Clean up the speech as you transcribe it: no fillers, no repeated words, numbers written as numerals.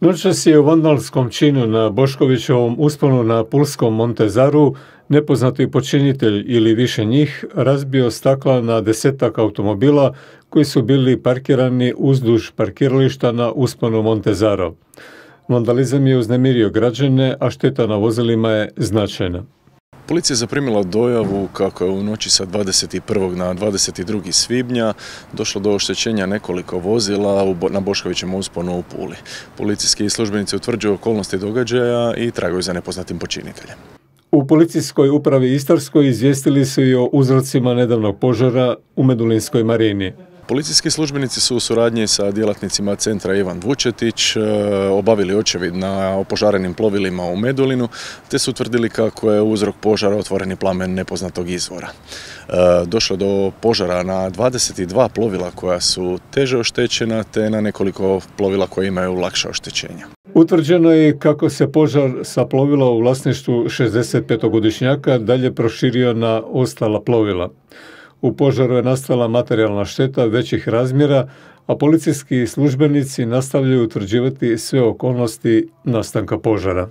Noćas je u vandalskom činu na Boškovićevom usponu na pulskom Montezaru nepoznati počinitelj ili više njih razbio stakla na 10-tak automobila koji su bili parkirani uzduž parkirališta na usponu Montezaro. Vandalizam je uznemirio građane, a šteta na vozilima je značajna. Policija je zaprimila dojavu kako je u noći sa 21. na 22. svibnja došlo do oštećenja nekoliko vozila na Boškovićevom usponu u Puli. Policijski službenici utvrđuju okolnosti događaja i tragaju za nepoznatim počiniteljem. U policijskoj upravi Istarskoj izvijestili su i o uzrocima nedavnog požara u Medulinskoj marini. Policijski službenici su u suradnji sa djelatnicima centra Ivan Vučetić obavili očevid na opožarenim plovilima u Medulinu, te su utvrdili kako je uzrok požara otvoreni plamen nepoznatog izvora. Došlo je do požara na 22 plovila koja su teže oštećena, te na nekoliko plovila koja imaju lakša oštećenja. Utvrđeno je kako se požar sa plovila u vlasništvu 65-godišnjaka dalje proširio na ostala plovila. U požaru je nastala materijalna šteta većih razmjera, a policijski službenici nastavljaju utvrđivati sve okolnosti nastanka požara.